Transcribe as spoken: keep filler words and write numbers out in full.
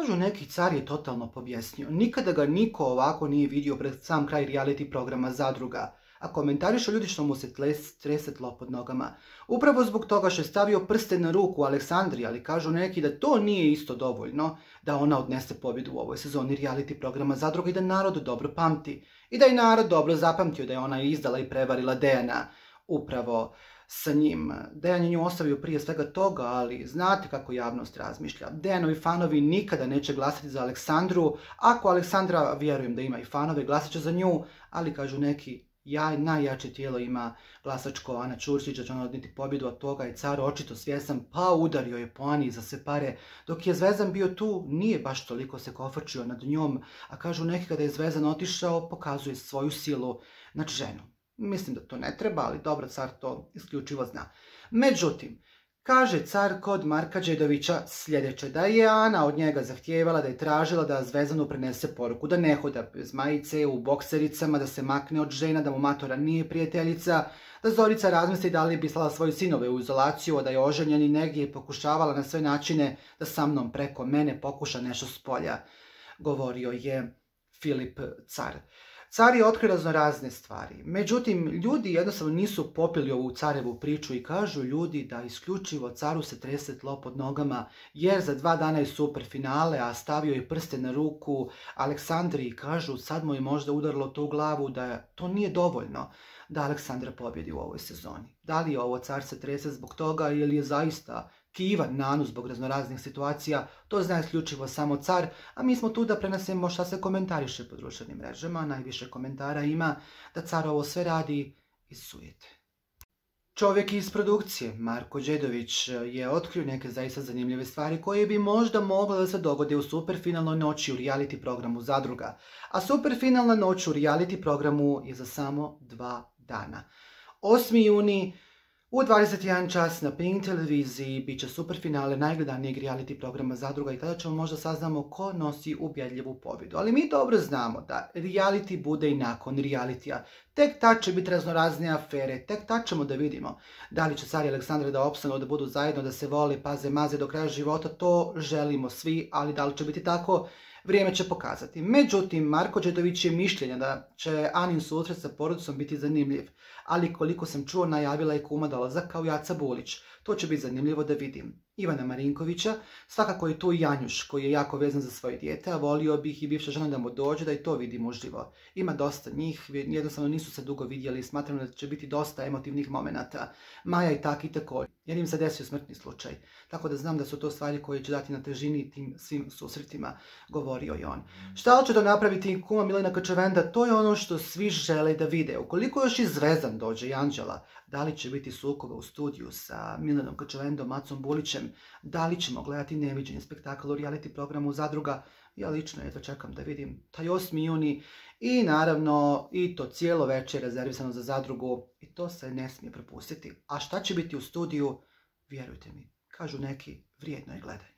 Kažu neki car je totalno pobjesnio. Nikada ga niko ovako nije vidio pred sam kraj reality programa Zadruga. A komentarišu ljudi što mu se trese tlo pod nogama. Upravo zbog toga što je stavio prste na ruku Aleksandri, ali kažu neki da to nije isto dovoljno da ona odnese pobjedu u ovoj sezoni reality programa Zadruga i da narod dobro pamti. I da je narod dobro zapamtio da je ona izdala i prevarila Dejana upravo sa njim. Dejan je nju ostavio prije svega toga, ali znate kako javnost razmišlja. Dejanovi fanovi nikada neće glasati za Aleksandru. Ako Aleksandra, vjerujem da ima i fanove, glasat će za nju, ali kažu neki, ja, najjače tijelo ima glasačko Ana Ćurčić, da će ona odnijeti pobjedu, od toga je car očito svjestan, pa udario je po Ani za sve pare. Dok je Zvezdan bio tu, nije baš toliko se kofačio nad njom, a kažu neki kada je Zvezdan otišao, pokazuje svoju silu nad ženu. Mislim da to ne treba, ali dobro, car to isključivo zna. Međutim, kaže car kod Marka Đedovića sljedeće, da je Ana od njega zahtijevala, da je tražila da Zvezdanu prenese poruku, da ne hoda bez majice, u boksericama, da se makne od žena, da mu matora nije prijateljica, da Zorica razmisli da li bi slala svoje sinove u izolaciju, a da je oženjen i negdje je pokušavala na sve načine da sa mnom preko mene pokuša nešto s polja, govorio je Filip car. Car je otkrio raznorazne stvari, međutim, ljudi jednostavno nisu popili ovu carevu priču i kažu ljudi da isključivo caru se trese tlo pod nogama, jer za dva dana je super finale, a stavio je prste na ruku Aleksandri i kažu sad mu je možda udarilo to u glavu da to nije dovoljno da Aleksandra pobjedi u ovoj sezoni. Da li je ovo car se trese zbog toga ili je zaista kivan nanu zbog raznoraznih situacija, to zna isključivo samo car, a mi smo tu da prenesemo šta se komentariše po društvenim mrežama. Najviše komentara ima da car ovo sve radi iz sujete. Čovjek iz produkcije, Marko Đedović, je otkrio neke zaista zanimljive stvari koje bi možda mogle da se dogode u superfinalnoj noći u reality programu Zadruga. A superfinalna noć u reality programu je za samo dva dana. osmi juni u dvadeset jedan čas na Pink televiziji bit će superfinale najgledanijeg reality programa Zadruga i tada ćemo možda saznamo ko nosi ubjedljivu pobjedu. Ali mi dobro znamo da reality bude i nakon realitija. Tek tad će biti raznorazne afere, tek tad ćemo da vidimo da li će car i Aleksandra da opstanu, da budu zajedno, da se vole, paze, maze do kraja života. To želimo svi, ali da li će biti tako, vrijeme će pokazati. Međutim, Marko Đedović je mišljenja da će Anin susret sa porodicom biti zanimljiv, ali koliko sam čuo, najavila je kuma dolazak kao Jaca Bulić. To će biti zanimljivo da vidim. Ivana Marinkovića, svakako je tu i Janjuš, koji je jako vezan za svoje dijete, a volio bih i bivša žena da mu dođe da i to vidimo uživo. Ima dosta njih, jednostavno nisu se dugo vidjeli i smatram da će biti dosta emotivnih momenata. Maja i Taki također, jer im se desio smrtni slučaj. Tako da znam da su to stvari koje će dati na težini tim svim susretima, govorio je on. Šta će to napraviti kuma Milena Kačavenda, to je ono što svi žele da vide. Ukoliko još i Zvezdan dođe i Anđela, da li će biti sukoba u studiju sa Milenom Kačavendom, Macom Bulićem, da li ćemo gledati neviđeni spektakl u reality programu Zadruga, ja lično jedva čekam da vidim taj osmi juni i naravno i to cijelo večer rezervisano za Zadrugu i to se ne smije propustiti. A šta će biti u studiju, vjerujte mi, kažu neki, vrijedno je gledanje.